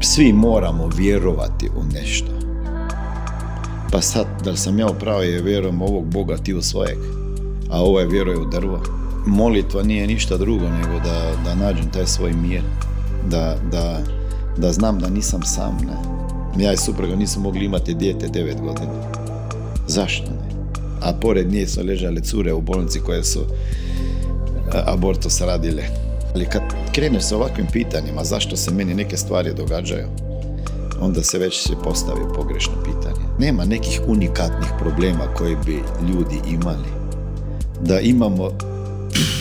Svi moramo vjerovati u nešto. Pa sad, da li sam ja upravo je vjerujem ovog Boga ti u svojeg, a ovaj vjeruje u drvo. Molitva nije ništa drugo nego da nađem taj svoj mir, da znam da nisam sam, ne. Ja i supruga nismo mogli imati dijete 9 godina. Zašto ne? A pored nje su ležale cure u bolnici koje su abortus radile. Ali kad kreneš sa ovakvim pitanjima, zašto se meni neke stvari događaju, onda se već postavi pogrešno pitanje. Nema nekih unikatnih problema koje bi ljudi imali. Da imamo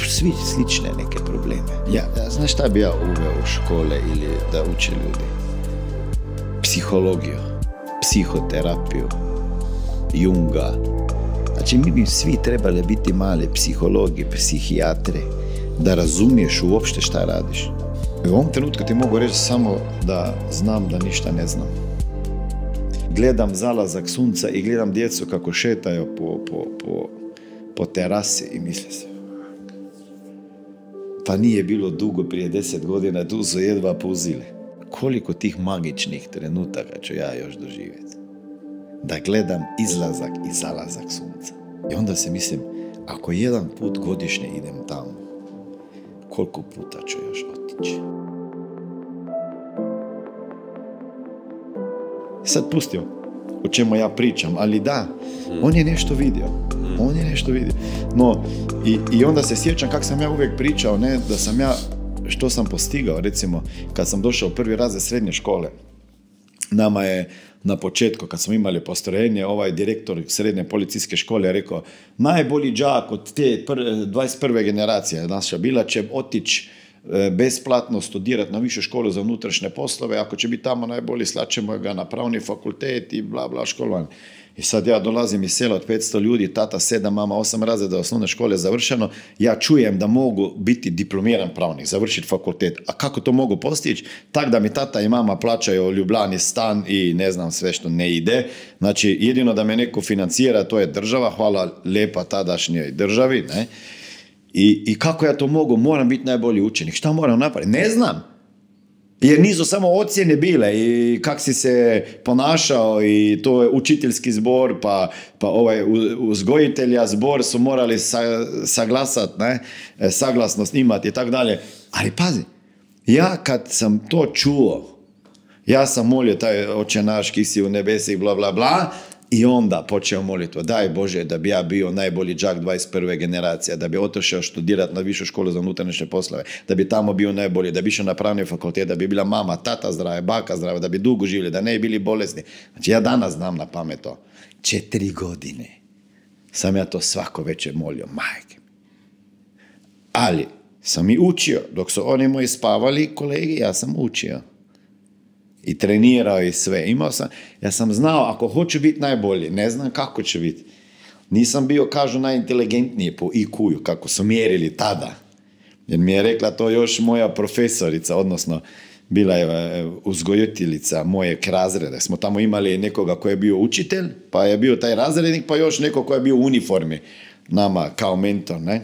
svi slične neke probleme. Znaš šta bi ja uveo u škole ili da uče ljudi? Psihologiju, psihoterapiju, Junga. Znači mi bi svi trebali biti mali psihologi, psihijatri, da razumiješ uopšte šta radiš. U ovom trenutku ti mogu reći samo da znam da ništa ne znam. Gledam zalazak sunca i gledam djecu kako šetaju po terasi i misle se, pa nije bilo dugo prije 10 godina, tu su jedva puzile. Koliko tih magičnih trenutaka ću ja još doživjeti? Da gledam izlazak i zalazak sunca. I onda se mislim, ako jedan put godišnje idem tamo, koliko puta ću još otići? Sad pustio o čemu ja pričam, ali da, on je nešto vidio. On je nešto vidio. No, i onda se sjećam kako sam ja uvijek pričao, ne, da sam ja, što sam postigao, recimo, kad sam došao u prvi razred srednje škole, nama je na početku, kad smo imali postrojenje, ovaj direktor srednje policijske škole je rekao, najbolji đak od te 21. generacije naša bila će otići besplatno studirati na višu školu za unutrašnje poslove, ako će biti tamo najbolji, slaćemo ga na pravni fakultet i bla bla školovanje. I sad ja dolazim iz sela od 500 ljudi, tata 7, mama 8 razreda osnovne škole završeno, ja čujem da mogu biti diplomiran pravnik, završiti fakultet. A kako to mogu postići? Tak da mi tata i mama plaćaju u Ljubljani stan i ne znam sve što ne ide. Znači, jedino da me neko financira, to je država, hvala lijepa tadašnjoj državi, ne? I kako ja to mogu? Moram biti najbolji učenik. Šta moram napraviti? Ne znam. Jer nisu samo ocjene bile i kak si se ponašao i to je učiteljski zbor, pa ovaj uzgojitelja zbor su morali saglasati, ne, saglasnost imati i tako dalje. Ali pazi, ja kad sam to čuo, ja sam molio taj Oče naš ki si u nebesi, bla bla bla, i onda počeo molitvu, daj Bože da bi ja bio najbolji đak 21. generacija, da bi otišao študirati na višu školu za unutrašnje poslove, da bi tamo bio najbolji, da bi išao na pravni fakultet, da bi bila mama, tata zdrava, baka zdrava, da bi dugo živjeli, da ne bi bili bolesni. Znači ja danas znam na pamet to. 4 godine sam ja to svako večer molio, majke. Ali sam i učio, dok su oni moji spavali kolegi, ja sam učio. I trenirao i sve. Ja sam znao, ako hoću biti najbolji, ne znam kako će biti. Nisam bio, kažu, najinteligentniji po IQ-u, kako su mjerili tada. Jer mi je rekla to još moja profesorica, odnosno bila je uzgojiteljica mojeg razreda. Smo tamo imali nekoga koji je bio učitelj, pa je bio taj razrednik, pa još neko koji je bio u uniformi nama kao mentor, ne?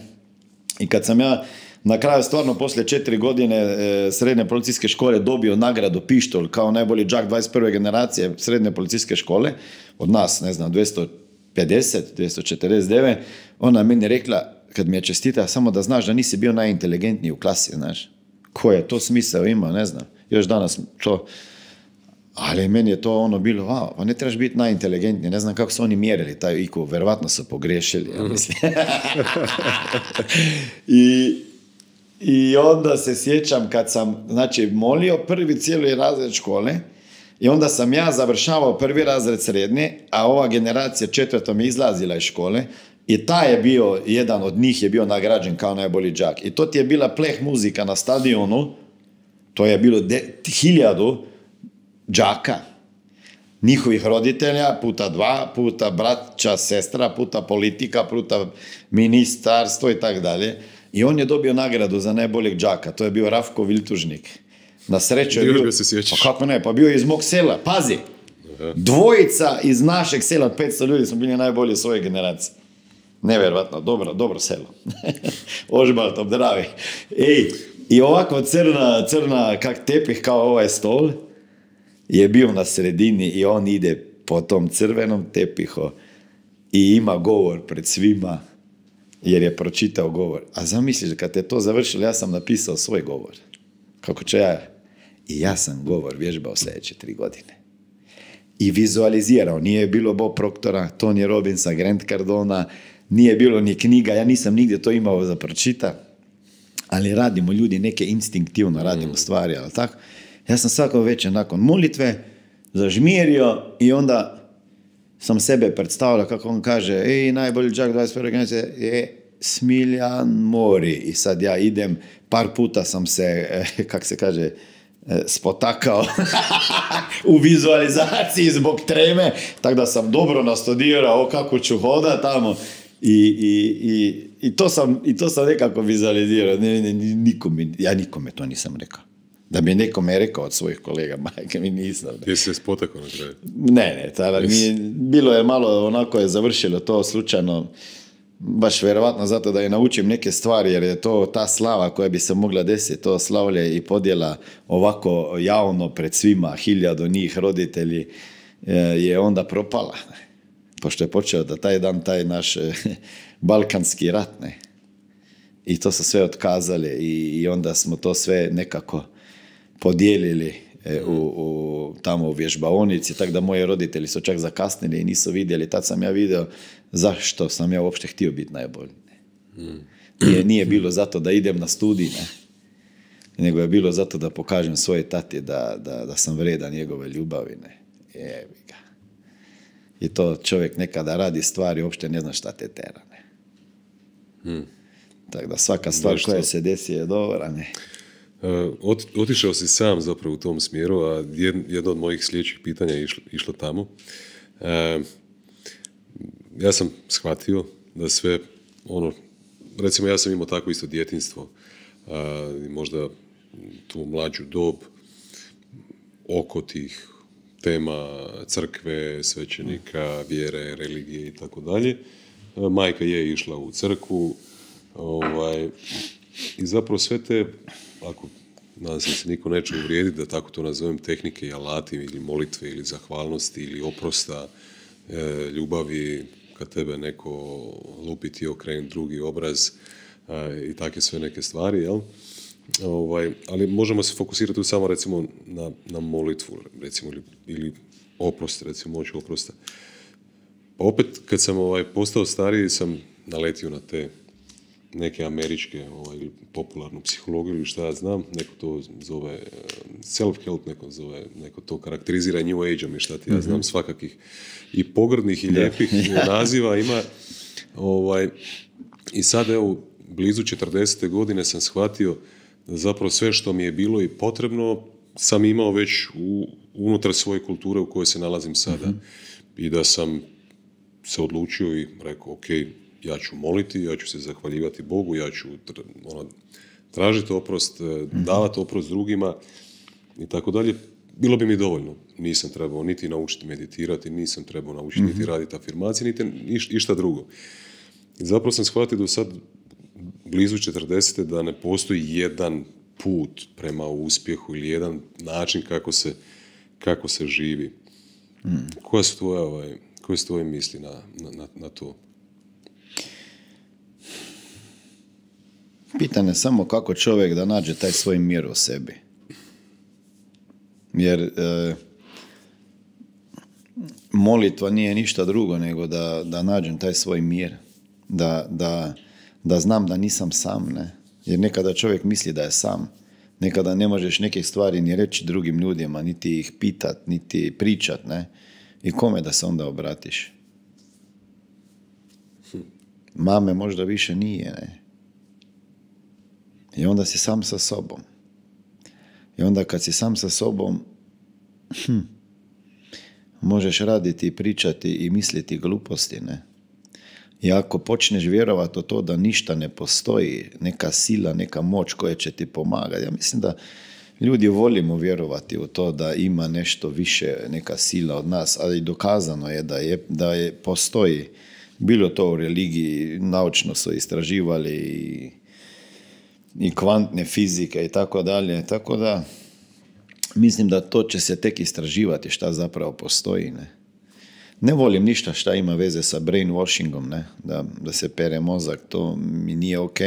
I kad sam ja na kraju stvarno poslije 4 godine srednje policijske škole dobio nagradu pištolj kao najbolji đak 21. generacije srednje policijske škole, od nas, ne znam, 250, 249, ona meni rekla, kad mi je čestita, samo da znaš da nisi bio najinteligentniji u klasi, znaš. Koje to smisao ima, ne znam. Još danas to, ali meni je to ono bilo, wow, pa ne trebaš biti najinteligentniji, ne znam kako su oni mjerili taj IQ, verovatno su pogriješili, ja mislim. I onda se sjećam kad sam, znači, molio prvi cijeli razred škole i onda sam ja završavao prvi razred srednje, a ova generacija 4. mi izlazila iz škole i taj je bio, jedan od njih je bio nagrađen kao najbolji đak. I to ti je bila pleh muzika na stadionu, to je bilo 1000 đaka, njihovih roditelja, puta 2, puta braća, sestra, puta politika, puta ministarstvo i tako dalje. I on je dobio nagradu za najboljeg đaka. To je bio Rafko Viltužnik. Na sreću je bio... Pa kako ne, pa bio je iz mog sela. Pazi! Dvojica iz našeg sela od 500 ljudi smo bili najbolji svoje generacije. Nevjerovatno, dobro selo. Ožbalt, obdravi. I ovako crna kak tepih kao ovaj stol. je bio na sredini i on ide po tom crvenom tepihu i ima govor pred svima jer je pročitao govor. A zamisliš, kad je to završilo, ja sam napisao svoj govor. Kako će ja sam govor vježbao sljedeće 3 godine. I vizualizirao. Nije bilo Bob Proctora, Tony Robbinsa, Grant Cardona, nije bilo ni knjiga, ja nisam nigdje to imao za pročita, ali radimo ljudi neke instinktivno radimo stvari, ali tako. Ja sam svako večer nakon molitve zažmirio i onda sam sebe predstavljao, kako on kaže, najbolji đak 21. generacije je Smiljan Mori. I sad ja idem, par puta sam se, kak se kaže, spotakao u vizualizaciji zbog treme, tako da sam dobro nastudirao kako ću hoda tamo i to sam nekako vizualizirao. Ja nikome to nisam rekao. Da bi nekome rekao od svojih kolega, majke mi nisam. Ti si se spotakao na kraju? Ne, tada bilo je malo, onako je završilo to slučajno, baš vjerovatno zato da je naučim neke stvari, jer je to ta slava koja bi se mogla desiti, to slavlje i podjela ovako javno pred svima, 1000 njih roditelji, je onda propala. Pošto je počeo da taj dan, taj naš balkanski rat, ne. I to su sve otkazali i onda smo to sve nekako podijelili tamo u vježbaonici, tako da moji roditelji su čak zakasnili i nisu vidjeli. Tad sam ja vidio zašto sam ja uopšte htio biti najbolji. Nije bilo zato da idem na studij, ne, nego je bilo zato da pokažem svoje tati da sam vredan njegove ljubavi. Ne. Jebi ga. I to čovjek nekada radi stvari, uopšte ne zna šta te tera. Ne. Tako da svaka stvar koja se desi je dobra. Ne. Otišao si sam zapravo u tom smjeru, a jedno od mojih sljedećih pitanja je išlo tamo. Ja sam shvatio da sve ono, recimo ja sam imao tako isto djetinjstvo, možda tu mlađu dob oko tih tema crkve, svećenika, vjere, religije i tako dalje. Majka je išla u crkvu, i zapravo sve te, ako nadam se niko neće uvrijediti da tako to nazovem, tehnike i alati ili molitve ili zahvalnosti ili oprosta, ljubavi kad tebe neko lupi ti okreni drugi obraz i takve sve neke stvari, jel? Ali možemo se fokusirati tu samo recimo na molitvu, recimo, ili oprost, recimo moć oprosta. Pa opet kad sam postao stariji sam naletio na te neke američke ili popularnu psihologiju ili šta ja znam, neko to zove self-help, neko to karakterizira New Age-om i šta ti ja znam, svakakih i pogrdnih i lijepih naziva ima. I sad evo, blizu 40. godine sam shvatio da zapravo sve što mi je bilo i potrebno sam imao već unutar svoje kulture u kojoj se nalazim sada. I da sam se odlučio i rekao, ok, ja ću moliti, ja ću se zahvaljivati Bogu, ja ću tražiti oprost, davati oprost drugima i tako dalje. Bilo bi mi dovoljno. Nisam trebao niti naučiti meditirati, nisam trebao naučiti niti raditi afirmacije, niti išta drugo. I zapravo sam shvatio do sad, blizu 40. da ne postoji jedan put prema uspjehu ili jedan način kako se živi. Koje su tvoje misli na to? Pitanje je samo kako čovjek da nađe taj svoj mir u sebi. Jer molitva nije ništa drugo nego da nađem taj svoj mir. Da znam da nisam sam, ne? Jer nekada čovjek misli da je sam. Nekada ne možeš nekih stvari ni reći drugim ljudima, niti ih pitat, niti pričat, ne? I kome da se onda obratiš? Mame možda više nije, ne? I onda si sam sa sobom. I onda kad si sam sa sobom, možeš raditi i pričati i misliti gluposti, ne? I ako počneš vjerovati u to da ništa ne postoji, neka sila, neka moć koja će ti pomagati. Ja mislim da ljudi volimo vjerovati u to da ima nešto više, neka sila od nas, ali dokazano je da postoji. Bilo to u religiji, naučno su istraživali i kvantne fizike i tako dalje. Tako da mislim da to će se tek istraživati šta zapravo postoji, ne. Ne volim ništa šta ima veze sa brainwashingom, ne, da se pere mozak, to mi nije ok,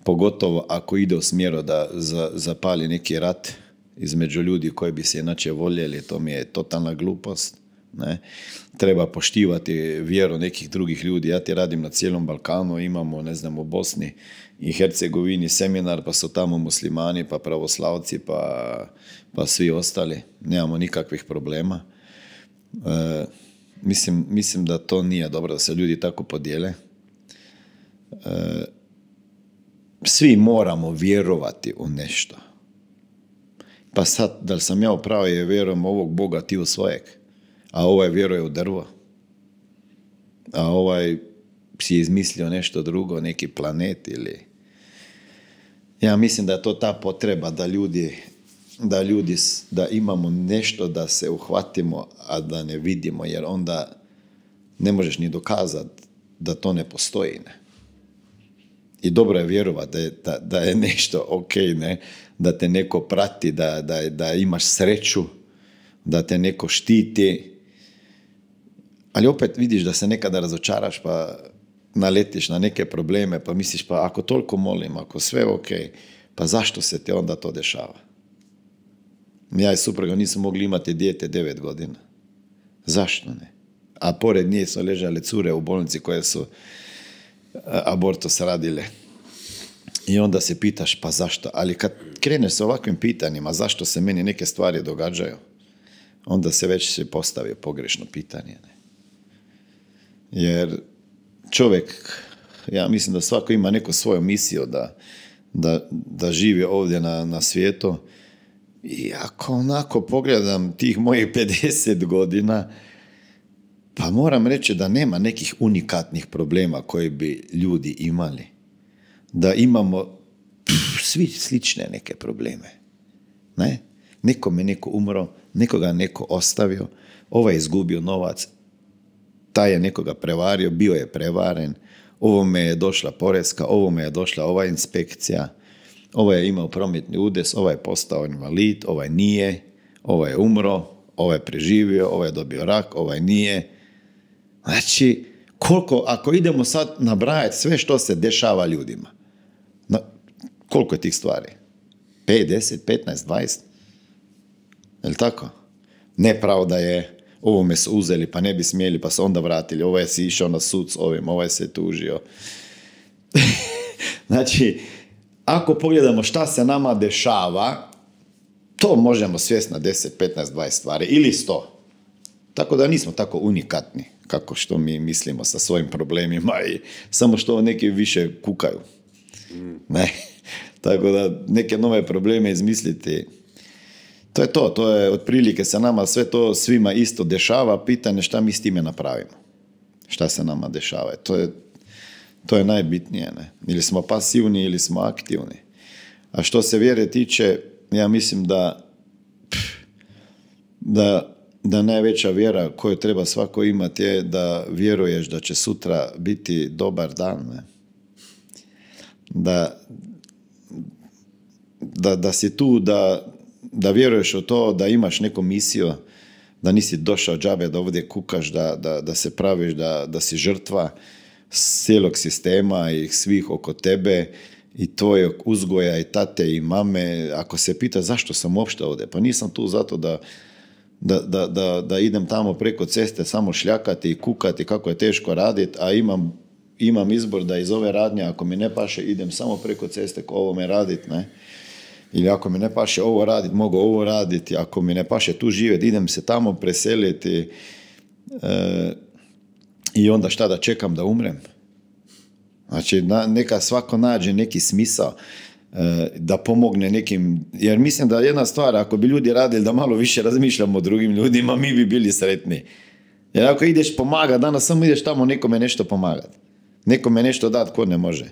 pogotovo ako ide u smjeru da zapali neki rat između ljudi koji bi se inače voljeli, to mi je totalna glupost, ne. Treba poštivati vjeru nekih drugih ljudi. Ja ti radim na cijelom Balkanu, imamo, ne znam, u Bosni i Hercegovini seminar, pa su tamo muslimani, pa pravoslavci, pa svi ostali. Nemamo nikakvih problema. Mislim da to nije dobro da se ljudi tako podijele. Svi moramo vjerovati u nešto. Pa sad, da li sam ja upravo je vjerujem ovog Boga, ti u svojeg, a ovaj vjeruje u drvo, a ovaj si izmislio nešto drugo, neki planet ili... Ja mislim da je to ta potreba da imamo nešto da se uhvatimo, a da ne vidimo, jer onda ne možeš ni dokazati da to ne postoji, ne. I dobro je vjerovati da je nešto ok, ne, da te neko prati, da imaš sreću, da te neko štiti, ali opet vidiš da se nekada razočaraš pa naletiš na neke probleme, pa misliš pa ako toliko molim, ako sve ok, pa zašto se te onda to dešava? Ja i supruga nismo mogli imati dijete 9 godina. Zašto ne? A pored nje su ležale cure u bolnici koje su abortus radile. I onda se pitaš pa zašto? Ali kad kreneš sa ovakvim pitanjima, zašto se meni neke stvari događaju, onda se već postavi pogrešno pitanje. Ne? Jer čovjek, ja mislim da svako ima neku svoju misiju da živi ovdje na svijetu. I ako onako pogledam tih mojih 50 godina, pa moram reći da nema nekih unikatnih problema koje bi ljudi imali. Da imamo svi slične neke probleme. Ne? Nekome neko umro, nekoga neko ostavio, ovaj je izgubio novac, taj je nekoga prevario, bio je prevaren, ovome je došla porezka, ovome je došla ova inspekcija, ovaj je imao prometni udes, ovaj je postao invalid, ovaj nije, ovaj je umro, ovaj je preživio, ovaj je dobio rak, ovaj nije. Znači, ako idemo sad nabrajati sve što se dešava ljudima, koliko je tih stvari? 5, 10, 15, 20? Je li tako? Nepravda je, ovome su uzeli pa ne bi smjeli pa se onda vratili, ovaj si išao na sud s ovim, ovaj se tužio. Znači, ako pogledamo šta se nama dešava, to možemo svesti na 10, 15, 20 stvari ili 100. Tako da nismo tako unikatni kako što mi mislimo sa svojim problemima i samo što neki više kukaju. Ne. Tako da neke nove probleme izmisliti, to je otprilike se nama sve to svima isto dešava, pitanje šta mi s time napravimo. Šta se nama dešava. To je najbitnije. Ne? Ili smo pasivni ili smo aktivni. A što se vjere tiče, ja mislim da najveća vjera koju treba svako imati je da vjeruješ da će sutra biti dobar dan. Ne? Da si tu, da vjeruješ u to, da imaš neku misiju, da nisi došao džabe da ovdje kukaš, da se praviš, da si žrtva cijelog sistema i svih oko tebe i tvojeg uzgoja i tate i mame. Ako se pita zašto sam uopšte ovdje, pa nisam tu zato da idem tamo preko ceste samo šljakati i kukati kako je teško raditi, a imam izbor da iz ove radnje, ako mi ne paše, idem samo preko ceste ko ovome raditi, ne? Ili ako mi ne paše ovo raditi, mogu ovo raditi, ako mi ne paše tu živjeti, idem se tamo preseliti i onda šta da čekam da umrem? Znači, neka svako nađe neki smisao da pomogne nekim, jer mislim da jedna stvar, ako bi ljudi radili da malo više razmišljamo o drugim ljudima, mi bi bili sretni. Jer ako ideš pomagati, danas samo ideš tamo nekome nešto pomagati. Nekome nešto dati ko ne može.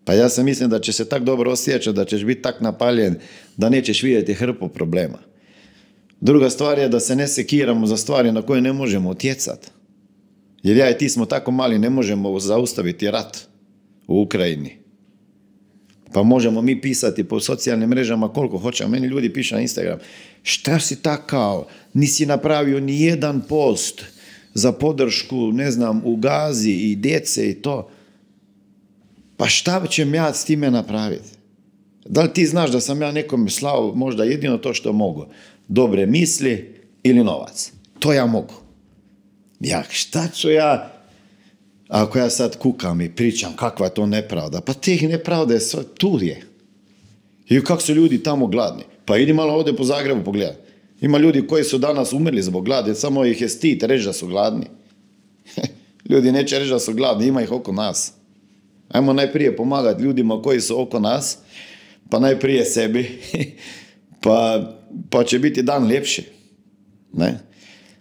Pa ja sam mislim da će se tak dobro osjećati, da ćeš biti tak napaljen, da nećeš vidjeti hrpu problema. Druga stvar je da se ne sekiramo za stvari na koje ne možemo utjecati. Jer ja i ti smo tako mali, ne možemo zaustaviti rat u Ukrajini. Pa možemo mi pisati po socijalnim mrežama koliko hoćemo. Meni ljudi pišu na Instagram, šta si takao, nisi napravio ni jedan post za podršku, ne znam, u Gazi i djece i to. Pa šta ćem ja s time napraviti? Da li ti znaš da sam ja nekome slao možda jedino to što mogu? Dobre misli ili novac. To ja mogu. Ja, šta ću ja, ako ja sad kukam i pričam kakva je to nepravda, pa tih nepravda je sve, tu je. I kako su ljudi tamo gladni. Pa idi malo ovdje po Zagrebu pogledati. Ima ljudi koji su danas umrli zbog gladi, samo ih je stid reći da su gladni. Ljudi neće reći da su gladni, ima ih oko nas. Ajmo najprije pomagati ljudima koji su oko nas, pa najprije sebi, pa će biti dan ljepši. Ne?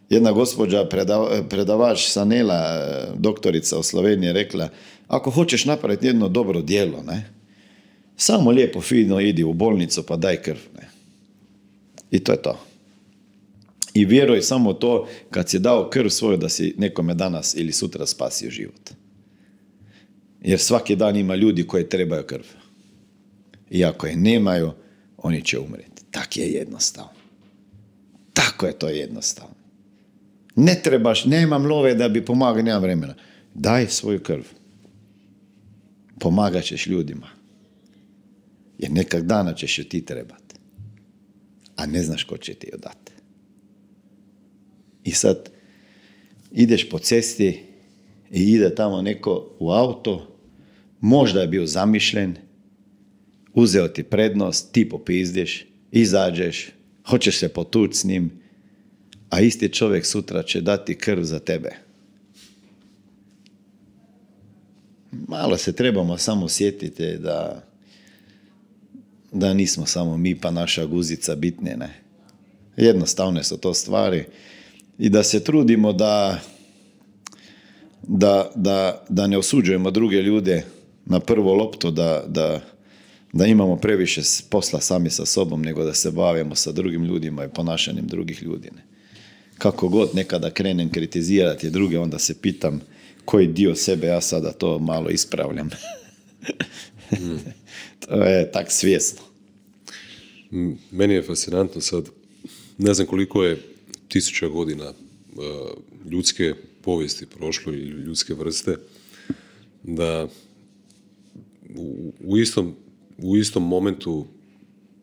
Jedna gospođa, predavač Sanela, doktorica u Sloveniji, rekla, ako hoćeš napraviti jedno dobro djelo, ne, samo lijepo, fino idi u bolnicu pa daj krv. Ne. I to je to. I vjeruj samo to kad si dao krv svoju da si nekome danas ili sutra spasio život. Jer svaki dan ima ljudi koji trebaju krv. I ako je nemaju, oni će umreti. Tak je jednostavno. Tako je to jednostavno. Ne trebaš, nemam love da bi pomagao, nemam vremena. Daj svoju krv. Pomagat ćeš ljudima. Jer nekak dana ćeš ju ti trebati. A ne znaš ko će ti ju dati. I sad ideš po cesti i ide tamo neko u auto, možda je bio zamišljen, uzeo ti prednost, ti popizdiš, izađeš, hoćeš se potući s njim, a isti čovjek sutra će dati krv za tebe. Malo se trebamo samo sjetiti da nismo samo mi pa naša guzica bitne, ne. Jednostavne su to stvari i da se trudimo da ne osuđujemo druge ljude na prvo loptu, da imamo previše posla sami sa sobom, nego da se bavimo sa drugim ljudima i ponašanjem drugih ljudi. Ne. Kako god nekada krenem kritizirati druge, onda se pitam koji dio sebe ja sada to malo ispravljam. To je tak svjesno. Meni je fascinantno sad, ne znam koliko je 1000 godina ljudske povijesti prošlo ili ljudske vrste, da u istom momentu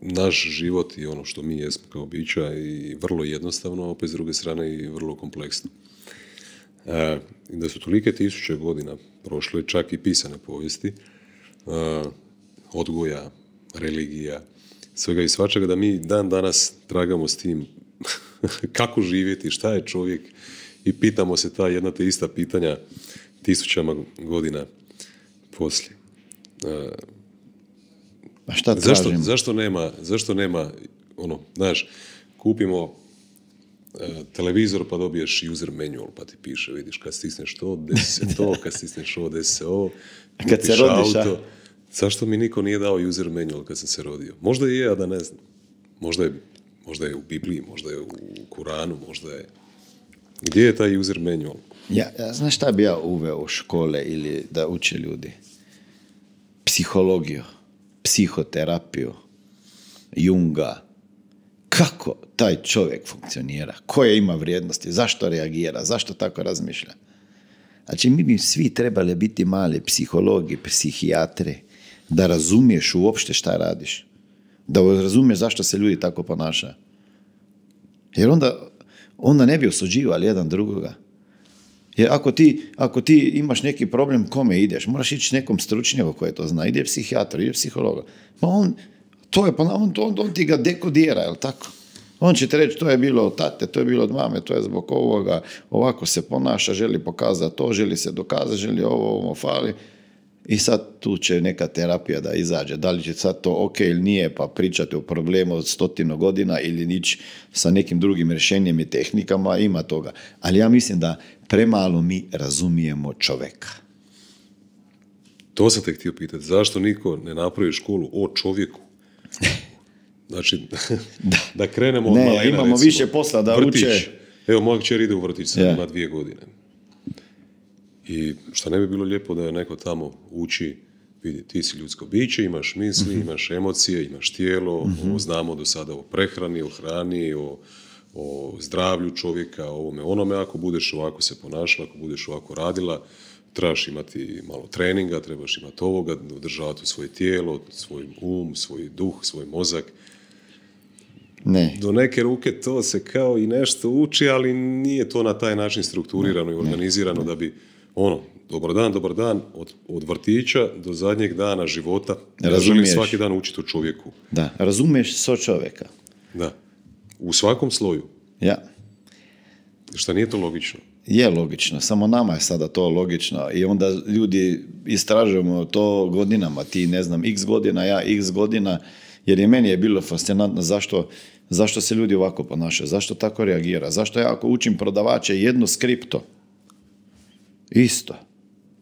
naš život i ono što mi jesmo kao bića i vrlo jednostavno, a opet s druge strane i vrlo kompleksno. I da su tolike 1000 godina prošle, čak i pisane povijesti, odgoja, religija, svega i svačega, da mi dan danas tragamo s tim kako živjeti, šta je čovjek i pitamo se ta jedna te ista pitanja 1000 godina poslije. A šta tražimo? Zašto nema ono, znaš, kupimo televizor pa dobiješ user manual pa ti piše, vidiš, kad stisneš to, desi se to, kad stisneš ovo, desi se ovo, kad se rodiš, auto. Zašto mi niko nije dao user manual kad sam se rodio? Možda i je, a da ne znam. Možda je u Bibliji, možda je u Kuranu, možda je... Gdje je taj user manual? Ja, znaš šta bi ja uveo u škole ili da uče ljudi? Psihologiju, psihoterapiju, Junga. Kako taj čovjek funkcionira? Koje ima vrijednosti? Zašto reagira? Zašto tako razmišlja? Znači, mi bi svi trebali biti mali psihologi, psihijatri, da razumiješ uopšte šta radiš. Da razumiješ zašto se ljudi tako ponašaju. Jer onda ne bi osuđivali jedan drugoga. Jer ako ti imaš neki problem, kome ideš? Moraš ići nekom stručnjaku koji to zna. Ide psihijatru, ide psihologa. Pa on ti ga dekodira, jel tako? On će ti reći, to je bilo od tate, to je bilo od mame, to je zbog ovoga, ovako se ponaša, želi pokazati to, želi se dokazati, želi ovo fali. I sad tu će neka terapija da izađe. Da li će sad to ok ili nije, pa pričati o problemu od 100 godina ili nići sa nekim drugim rješenjem i tehnikama, ima toga. Ali ja mislim da premalo mi razumijemo čovjeka. To sam te htio pitati. Zašto niko ne napravi školu o čovjeku? Znači, da krenemo od malena. Ne, imamo recimo, više posla da vrtić, uče. Evo, moja kćer ide u vrtić, sad ima 2 godine. I šta ne bi bilo lijepo da je neko tamo uči vidi, ti si ljudsko biće, imaš misli, imaš emocije, imaš tijelo, znamo do sada o prehrani, o hrani, o zdravlju čovjeka, o ovome, onome, ako budeš ovako se ponašala, ako budeš ovako radila, trebaš imati malo treninga, trebaš imati ovoga, održavati svoje tijelo, svoj svoj duh, svoj mozak. Ne. Do neke ruke to se kao i nešto uči, ali nije to na taj način strukturirano i organizirano da bi, dobar dan, od vrtića do zadnjeg dana života. Ja želim svaki dan učiti o čovjeku. Da, razumiješ so čovjeka. Da, u svakom sloju. Ja. Šta nije to logično? Je logično, samo nama je sada to logično i onda ljudi istražujemo to godinama, ti ne znam x godina, ja x godina, jer i meni je bilo fascinantno zašto se ljudi ovako ponašaju, zašto tako reagira, zašto ja ako učim prodavače jedno skripto, isto,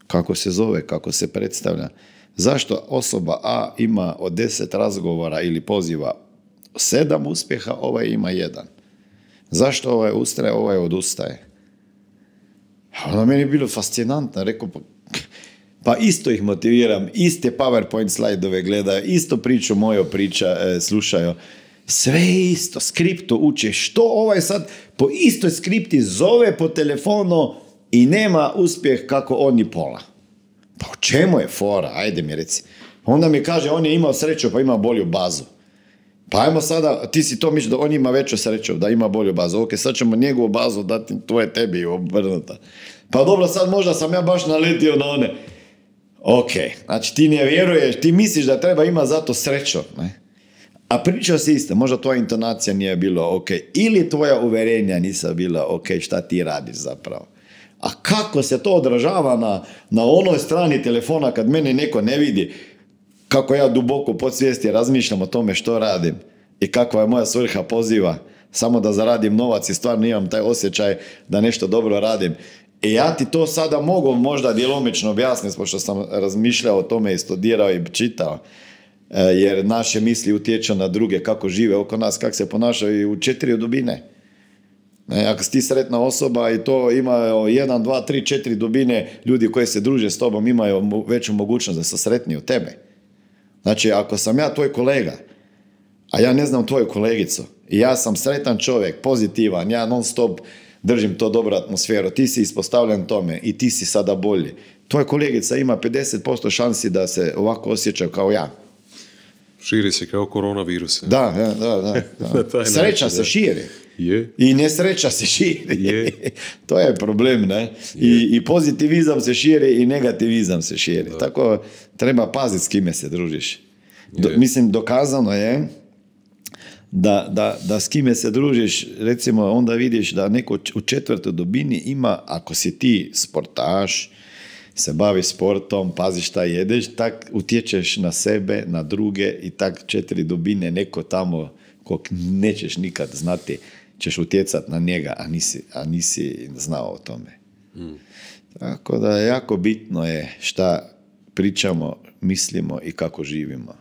kako se zove, kako se predstavlja, zašto osoba A ima od 10 razgovora ili poziva 7 uspjeha, ovaj ima 1. Zašto ovaj ustraje, ovaj odustaje? Ono meni je bilo fascinantno, rekao, pa isto ih motiviram, iste PowerPoint slajdove gledaju, isto priču moju slušaju, sve isto, skripto uče, što ovaj sad po istoj skripti zove po telefonu i nema uspjeh kako oni pola. Pa o čemu je fora, ajde mi reci. Onda mi kaže, on je imao sreću pa ima bolju bazu. Pa ajmo sada, ti si to misliš da on ima veću sreću, da ima bolju bazu. Ok, sad ćemo njegovu bazu dati, to je tebi obrnuta. Pa dobro, sad možda sam ja baš naletio na one. Ok, znači ti ne vjeruješ, ti misliš da treba ima zato sreću, ne? A pričao si isto, možda tvoja intonacija nije bila ok, ili tvoja uverenja nisa bila ok, šta ti radiš zapravo. A kako se to odražava na onoj strani telefona kad mene neko ne vidi, kako ja duboko podsvijesti razmišljam o tome što radim i kakva je moja svrha poziva, samo da zaradim novac i stvarno imam taj osjećaj da nešto dobro radim. I ja ti to sada mogu možda djelomično objasniti, pošto sam razmišljao o tome i studirao i čitao, jer naše misli utječu na druge, kako žive oko nas, kako se ponašaju u 4 dubine. Ako si ti sretna osoba i to ima 1, 2, 3, 4 dubine, ljudi koji se druže s tobom imaju veću mogućnost da su sretniji od tebe. Znači, ako sam ja tvoj kolega, a ja ne znam tvoju kolegicu, i ja sam sretan čovjek, pozitivan, ja non stop držim to dobru atmosferu, ti si ispostavljen tome i ti si sada bolji. Tvoja kolegica ima 50% šansi da se ovako osjeća kao ja. Širi se kao koronavirus. Da. Sreća se širi. Je. I nesreća se širi. Je. To je problem, ne? I pozitivizam se širi i negativizam se širi. Da. Tako treba paziti s kime se družiš. Mislim, dokazano je da s kime se družiš, recimo, onda vidiš da neko u 4. dubini ima, ako si ti sportaš, se bavi sportom, paziš šta jedeš, tak utječeš na sebe, na druge i tak 4 dubine neko tamo kog nećeš nikad znati, ćeš utjecati na njega, a nisi znao o tome. Tako da jako bitno je šta pričamo, mislimo i kako živimo.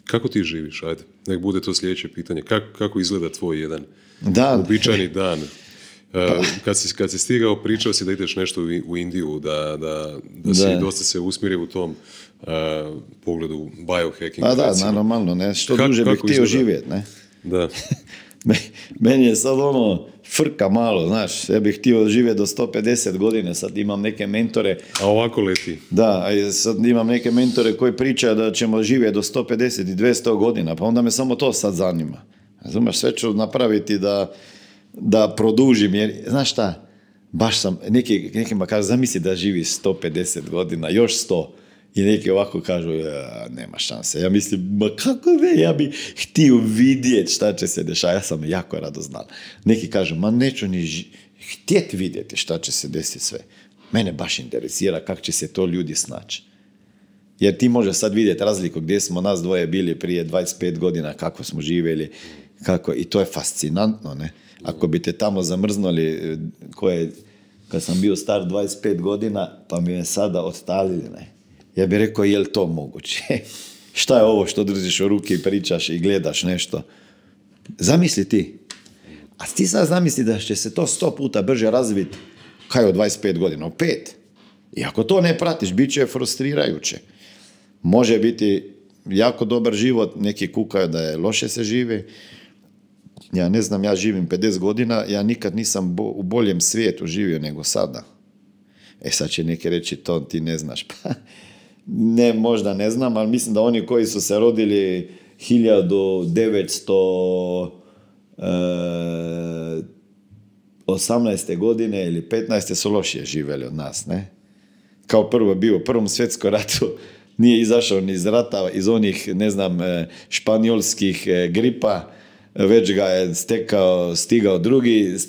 Kako ti živiš? Ajde, nek bude to sljedeće pitanje. Kako izgleda tvoj jedan uobičajeni dan? Kad si stigao, pričao si da ideš nešto u Indiju, da si dosta se usmjerio u tom pogledu biohacking. Pa da, normalno, ne? Što duže bih htio živjeti, ne? Da. Meni je sad frka malo, znaš, ja bih htio živjeti do 150 godina, sad imam neke mentore. A ovako leti. Da, sad imam neke mentore koji pričaju da ćemo živjeti do 150 i 200 godina, pa onda me samo to sad zanima. Znaš, sve ću napraviti da produžim, jer, znaš šta, baš sam, nekima kažu, zamisli da živi 150 godina, još 100, i neki ovako kažu, nema šanse. Ja mislim, ma kako ne, ja bi htio vidjeti šta će se dešati, ja sam jako rado znal. Neki kažu, ma neću ni htjeti vidjeti šta će se desiti sve. Mene baš interesira kako će se to ljudi snaći. Jer ti možeš sad vidjeti razliku gdje smo nas dvoje bili prije 25 godina, kako smo živjeli, i to je fascinantno, ne? Ako bi te tamo zamrznuli, kad sam bio star 25 godina, pa mi je sada odstalili, ne? Ja bih rekao, je li to moguće? Šta je ovo što držiš u ruki i pričaš i gledaš nešto? Zamisli ti. A ti sad zamisli da će se to 100 puta brže razviti kao od 25 godina, u 5. I ako to ne pratiš, bit će frustrirajuće. Može biti jako dobar život, neki kukaju da je loše se živi. Ja ne znam, ja živim 50 godina, ja nikad nisam u boljem svijetu živio nego sada. Sad će neki reći, to ti ne znaš. Pa, ne, možda ne znam, ali mislim da oni koji su se rodili 1918. godine ili 15. su lošije živjeli od nas, ne? Kao prvo bio u Prvom svjetskom ratu, nije izašao ni iz rata, iz onih, ne znam, španjolskih gripa, već ga je stigao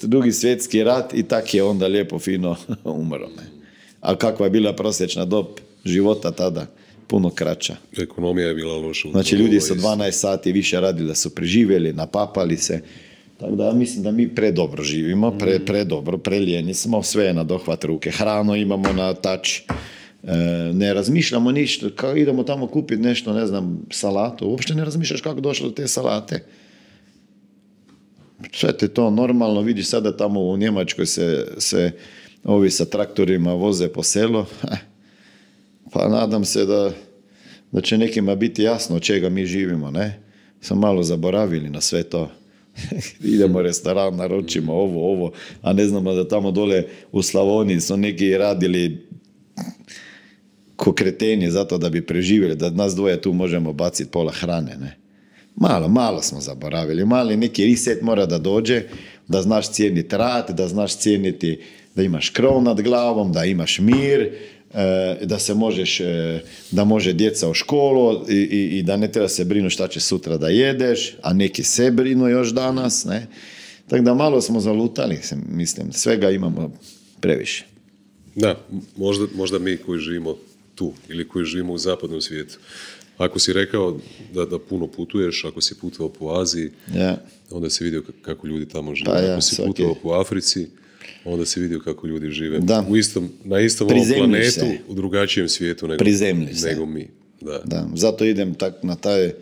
drugi svjetski rat i tak je onda lijepo fino umro. Ne? A kakva je bila prosječna dob života tada? Puno kraća. Ekonomija je bila loša. Znači ljudi su 12 sati više radili da su preživjeli, napapali se. Tako da mislim da mi predobro živimo, predobro, prelijeni smo, sve je na dohvat ruke. Hranu imamo na tač. Ne razmišljamo ništa, kao idemo tamo kupiti nešto, ne znam, salatu. Uopšte ne razmišljaš kako došlo do te salate. Sve te to normalno, vidiš sada tamo u Njemačkoj se ovi sa traktorima voze po selu, pa nadam se da će nekima biti jasno od čega mi živimo, ne? Sam malo zaboravili na sve to. Idemo u restoran, naručimo ovo, a ne znamo da tamo dole u Slavoniji su neki radili ko kreteni zato da bi preživjeli, da nas dvoje tu možemo baciti pola hrane, ne? Malo smo zaboravili, mali neki reset mora da dođe, da znaš cijeniti rad, da znaš cijeniti da imaš krov nad glavom, da imaš mir, da može djeca u školu i da ne treba se brinu šta će sutra da jedeš, a neki se brinu još danas, ne? Tako da malo smo zalutali, mislim, svega imamo previše. Da, možda mi koji živimo tu ili koji živimo u zapadnom svijetu. Ako si rekao da puno putuješ, ako si putovao po Aziji, onda si vidio kako ljudi tamo žive. Ako si putovao po Africi, onda si vidio kako ljudi žive na istom ovom planetu, u drugačijem svijetu nego mi. Da, zato idem tak na taj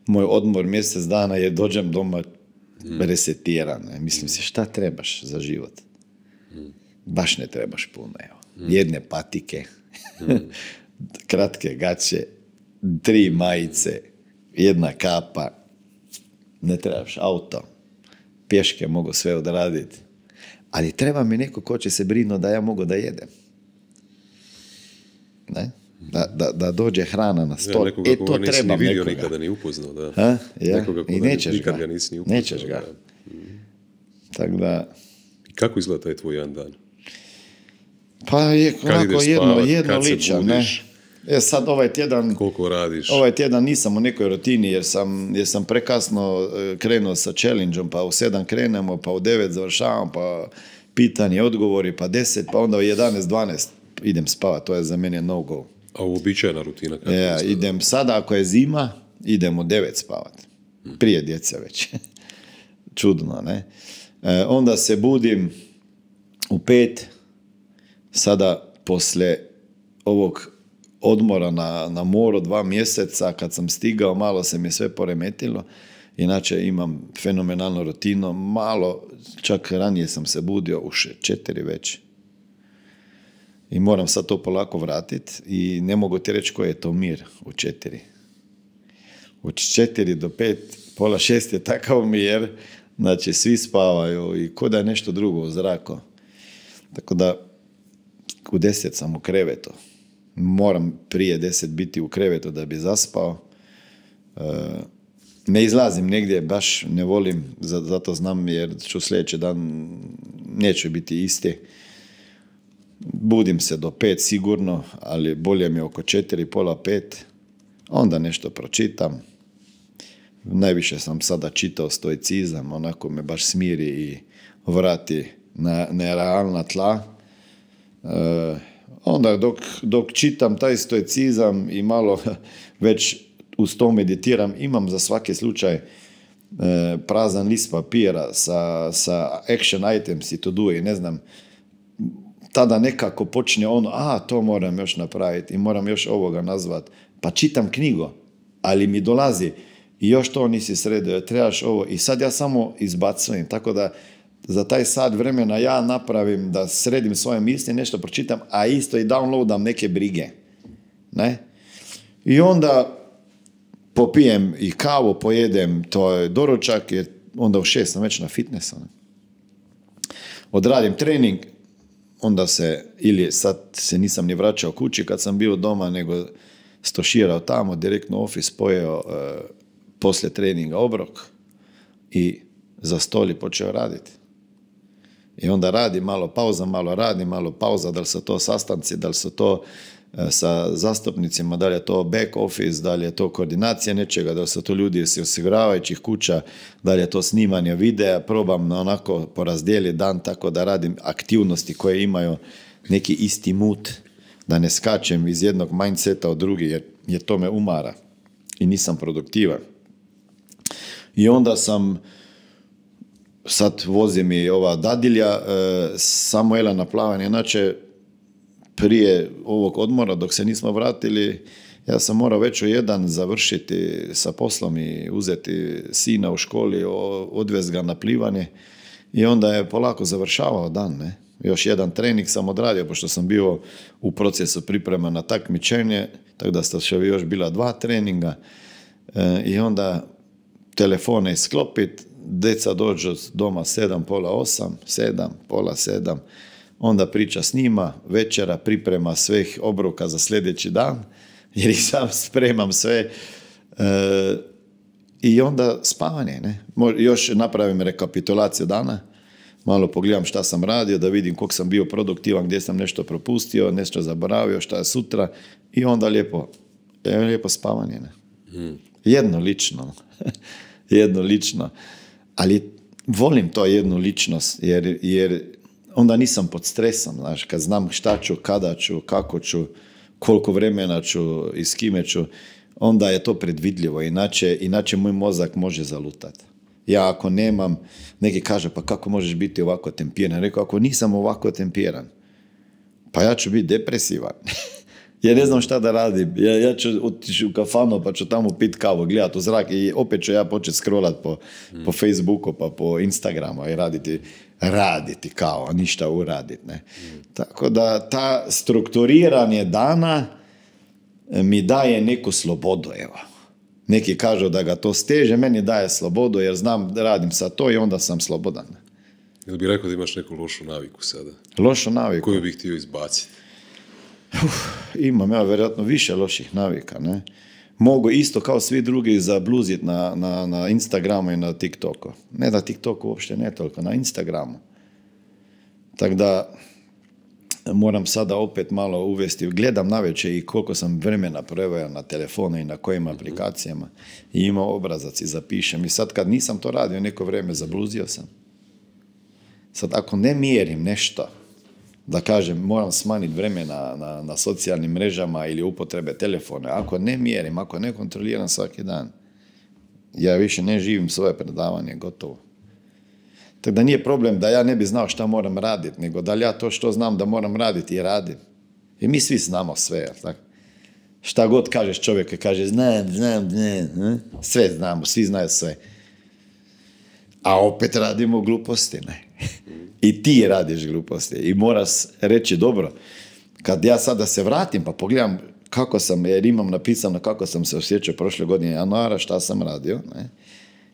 moj odmor mjesec dana jer dođem doma resetiran. Mislim se, šta trebaš za život? Baš ne trebaš puno. Jedne patike, kratke gaće, 3 majice, 1 kapa, ne trebaš auto, pješke mogu sve odraditi, ali treba mi neko ko će se brinuti da ja mogu da jedem. Ne? Da dođe hrana na stol. Nekoga koga nisi ni vidio, nikada ni upoznao. Da. Nekoga koga nikada ga nisi ni upoznao. Nećeš ga. Tako da... Kako izgleda taj tvoj jedan dan? Pa je onako jedno ličan, ne? Sad ovaj tjedan... Koliko radiš? Ovaj tjedan nisam u nekoj rutini jer sam prekasno krenuo sa challenge-om, pa u 7 krenemo, pa u 9 završavam, pa pitanje, odgovori, pa 10, pa onda u 11, 12 idem spavati, to je za mene no go. A uobičajena rutina? Idem sada, ako je zima, idem u 9 spavati. Prije djece već. Čudno, ne? Onda se budim u 5, sada posle ovog odmora na moru 2 mjeseca, kad sam stigao, malo se mi sve poremetilo, inače imam fenomenalnu rutinu, malo, čak ranije sam se budio u 4 već. I moram sad to polako vratiti i ne mogu ti reći koji je to mir u 4. Od 4 do 5, pola 6 je takav mir, znači svi spavaju i ko da je nešto drugo u zraku. Tako da u 10 sam u krevetu. Moram prije 10 biti u krevetu da bi zaspao. Ne izlazim negdje, baš ne volim, zato znam jer ću sljedeći dan neću biti isti. Budim se do 5 sigurno, ali bolje mi je oko 4, pola 5. Onda nešto pročitam. Najviše sam sada čitao stoicizam, onako me baš smiri i vrati na realna tla. Onda dok čitam taj stoicizam i malo već uz to meditiram, imam za svaki slučaj prazan list papira sa action items i to do i ne znam, tada nekako počne ono, to moram još napraviti i moram još ovoga nazvat. Pa čitam knjigu, ali mi dolazi i još to nisi sredio, trebaš ovo i sad ja samo izbacujem, tako da za taj sat vremena ja napravim da sredim svoje misli, nešto pročitam, a isto i downloadam neke brige. Ne? I onda popijem i kavu, pojedem, to je doručak, jer onda u 6 sam već na fitnessu. Odradim trening, onda ili sad se nisam ni vraćao kući kad sam bio doma, nego stoširao tamo, direktno u office, pojeo poslije treninga obrok i za stol i počeo raditi. I onda radi malo pauza, malo radi, malo pauza, da li su to sastanci, da li su to sa zastupnicima, da li je to back office, da li je to koordinacija nečega, da li su to ljudi iz osiguravajućih kuća, da li je to snimanje videa, probam onako porazdijeliti dan tako da radim aktivnosti koje imaju neki isti mood, da ne skačem iz jednog mindseta u drugi, jer to me umara i nisam produktivan. I onda sad vozi mi ova dadilja, samo jela na plavanje, inače prije ovog odmora, dok se nismo vratili, ja sam morao već u 1 završiti sa poslom i uzeti sina u školi, odvesti ga na plivanje i onda je polako završavao dan, ne? Još 1 trening sam odradio, pošto sam bio u procesu priprema na takmičenje, tako da ste još bila 2 treninga i onda telefone isklopit, deca dođu doma 7, pola 8, 7, pola 7, onda priča s njima, večera priprema svih obroka za sljedeći dan, jer ih sam spremam sve i onda spavanje, ne? Još napravim rekapitulaciju dana, malo pogledam šta sam radio, da vidim koliko sam bio produktivan, gdje sam nešto propustio, nešto zaboravio, šta je sutra i onda lijepo spavanje, ne? Jedno lično. Ali volim to jednu ličnost, jer onda nisam pod stresom, znaš, kad znam šta ću, kada ću, kako ću, koliko vremena ću i s kime ću, onda je to predvidljivo, inače moj mozak može zalutati. Ja ako nemam, neki kaže, pa kako možeš biti ovako tempiran? Rekao, ako nisam ovako tempiran, pa ja ću biti depresivan. Ja ne znam šta da radim. Ja ću otići u kafanu pa ću tamo pit kavu, gledati u zrak i opet ću ja početi scrollat po Facebooku pa po Instagramu i raditi kao, ništa uraditi. Ne? Tako da ta strukturiranje dana mi daje neku slobodu. Evo. Neki kažu da ga to steže, meni daje slobodu jer znam da radim sa to i onda sam slobodan. Ili bi rekao da imaš neku lošu naviku sada? Lošu naviku? Koju bih htio izbaciti? Imam ja vjerojatno više loših navika, ne? Mogu isto kao svi drugi zabluziti na Instagramu i na TikToku. Ne da TikToku uopšte ne toliko, na Instagramu. Tako da moram sada opet malo uvesti, gledam navečer i koliko sam vremena proveo na telefonu i na kojim aplikacijama i imao obrazac i zapišem. I sad kad nisam to radio neko vrijeme, zabluzio sam. Sad ako ne mjerim nešto, da kažem, moram smanjiti vremena na socijalnim mrežama ili upotrebe telefona. Ako ne mjerim, ako ne kontroliram svaki dan, ja više ne živim svoje predavanje, gotovo. Tako da nije problem da ja ne bi znao šta moram raditi, nego da li ja to što znam da moram raditi i radim. I mi svi znamo sve, tako? Šta god kažeš čovjek, kaže znam, sve znamo, svi znaju sve. A opet radimo gluposti, ne? I ti radiš gluposti. I moraš reći, dobro, kad ja sada se vratim pa pogledam kako sam, jer imam napisano kako sam se osjećao prošle godine januara, šta sam radio, ne?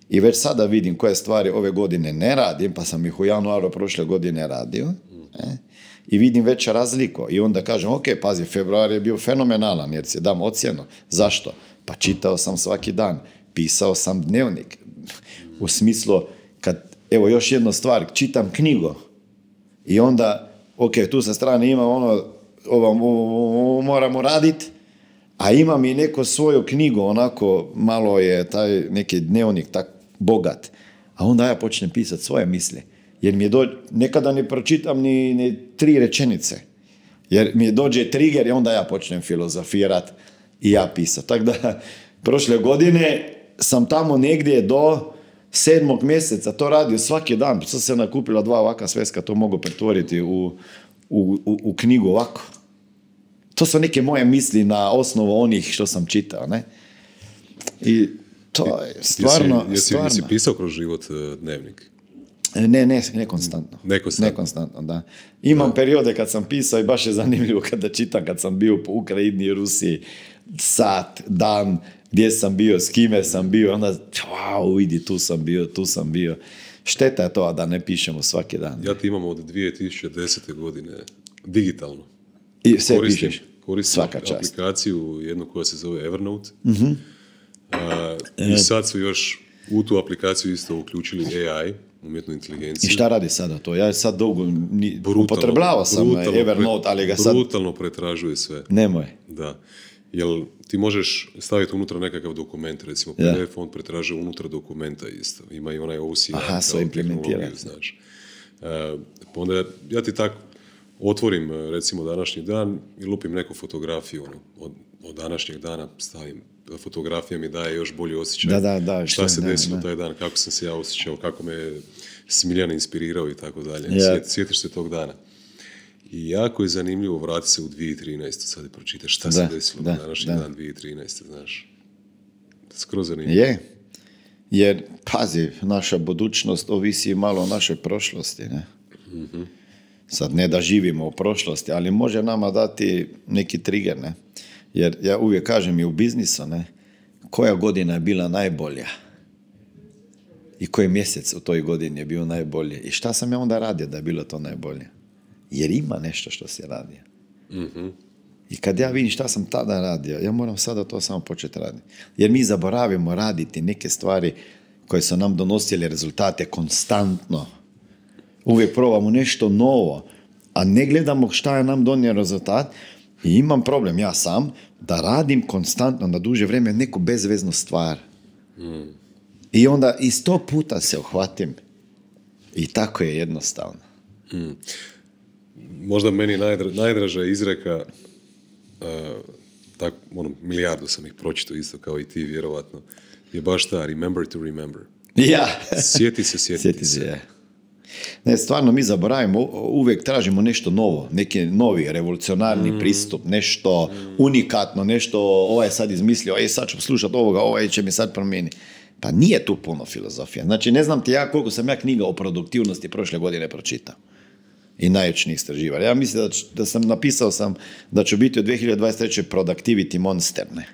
I već sada vidim koje stvari ove godine ne radim, pa sam ih u januaru prošle godine radio, ne? I vidim već razliku. I onda kažem, ok, pazi, februar je bio fenomenalan, jer si dam ocjenu. Zašto? Pa čitao sam svaki dan, pisao sam dnevnik. U smislu, evo još jednu stvar, čitam knjigu i onda, ok, tu sa strane ima ovo moramo raditi, a imam i neku svoju knjigu, onako malo je taj neki dnevnik tak bogat, a onda ja počnem pisati svoje misli, jer mi nekada ne pročitam ni 3 rečenice, jer mi dođe trigger i onda ja počnem filozofirati i ja pisati. Tako da, prošle godine sam tamo negdje do 7. mjeseca to radio svaki dan, sad se nakupila 2 ovakva sveska, to mogu pretvoriti u knjigu ovako. To su neke moje misli na osnovu onih što sam čitao, ne? I to je stvarno... Jesi pisao kroz život dnevnik? Ne konstantno. Ne konstantno, da. Imam periode kad sam pisao i baš je zanimljivo kada čitam, kad sam bio po Ukrajini i Rusiji, sat, dan, gdje sam bio, s kime sam bio, onda, wow, vidi, tu sam bio. Šteta je to da ne pišemo svaki dan. Ja ti imam od 2010. godine digitalno. I sve pišeš? Koristim aplikaciju, jednu koja se zove Evernote. I sad su još u tu aplikaciju isto uključili AI, umjetnu inteligenciju. I šta radi sada to? Ja sad dugo upotrebljavao sam Evernote, ali ga sad... Brutalno pretražuje sve. Nemoj. Da. Jel ti možeš staviti unutra nekakav dokument, recimo PDF, on pretražuje unutra dokumenta isto. Ima i onaj OCR. Aha, sve implementira. Znaš. Onda ja ti tako otvorim, recimo, današnji dan i lupim neku fotografiju od današnjeg dana, stavim. Fotografija mi daje još bolji osjećaj. Šta se desilo taj dan, kako sam se ja osjećao, kako me Smiljan inspirirao i tako dalje. Sjetiš se tog dana. I jako je zanimljivo vratiti se u 2013. Sad i pročitaš šta se desilo na današnji dan 2013. Znaš. Skroz zanimljivo. Je. Jer, pazi, naša budućnost ovisi malo o našoj prošlosti. Ne? Mm-hmm. Sad ne da živimo u prošlosti, ali može nama dati neki trigger. Ne? Jer ja uvijek kažem i u biznisu, ne? Koja godina je bila najbolja i koji mjesec u toj godini je bio najbolje i šta sam ja onda radio da je bilo to najbolje. Jer ima nešto što se radi. Mm-hmm. I kad ja vidim šta sam tada radio, ja moram sada to samo početi raditi. Jer mi zaboravimo raditi neke stvari koje su nam donosile rezultate konstantno. Uvijek probamo nešto novo, a ne gledamo šta je nam donio rezultat. I imam problem, ja sam, da radim konstantno na duže vrijeme neku bezveznu stvar. I onda i 100 puta se uhvatim. I tako je jednostavno. Možda meni najdraža izreka, milijardu sam ih pročitao isto kao i ti, vjerovatno, je baš ta remember to remember. Ja. Sjeti se. Ja. Ne, stvarno mi zaboravimo, uvijek tražimo nešto novo, neki novi, revolucionarni pristup, nešto unikatno, nešto, ovaj je sad izmislio, sad ću slušati ovoga, ovaj će mi sad promijeniti. Pa nije tu puno filozofija. Znači, ne znam ti ja koliko sam ja knjiga o produktivnosti prošle godine pročitao. I najveći istraživanja. Ja mislim da sam napisao da ću biti od 2023. productivity monster, ne?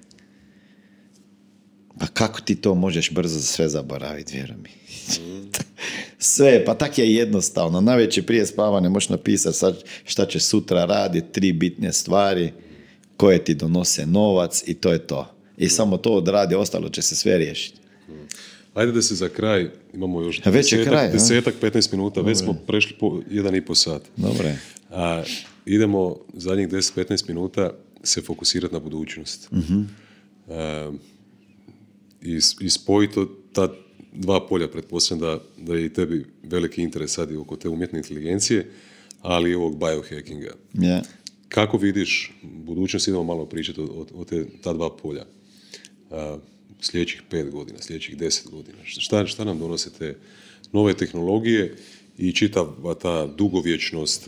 Pa kako ti to možeš brzo sve zaboraviti, vjeruj mi. Sve, pa tak je jednostavno. Navečer prije spavanja možeš napisati sad šta će sutra raditi, 3 bitne stvari koje ti donose novac i to je to. I samo to odradi, ostalo će se sve riješiti. Ajde da se za kraj, imamo još 10-15 minuta, već smo prešli po 1,5 sat. Dobre. Idemo zadnjih 10-15 minuta se fokusirati na budućnost. Mm-hmm. I spojiti ta 2 polja, pretpostavljam da je i tebi veliki interes sad i oko te umjetne inteligencije, ali i ovog biohackinga. Yeah. Kako vidiš budućnost, idemo malo pričati o ta 2 polja. Sljedećih 5 godina, sljedećih 10 godina. Šta nam donose te nove tehnologije i čitava ta dugovječnost,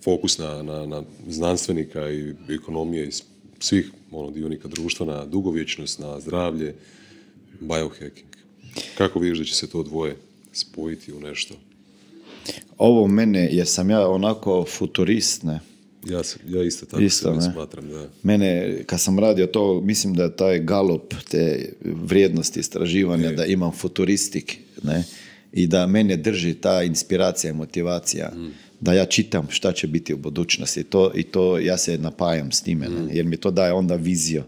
fokus na znanstvenika i ekonomije i svih dionika društva na dugovječnost, na zdravlje, biohacking. Kako vidiš da će se to dvoje spojiti u nešto? Ovo mene, jer sam ja onako futurist, ne? Ja isto tako se smatram, da. Mene, kad sam radio to, mislim da je taj Gallup, te vrijednosti istraživanja, da imam futuristik, ne? I da mene drži ta inspiracija i motivacija, da ja čitam šta će biti u budućnosti. I to ja se napajam s time, ne? Jer mi to daje onda viziju.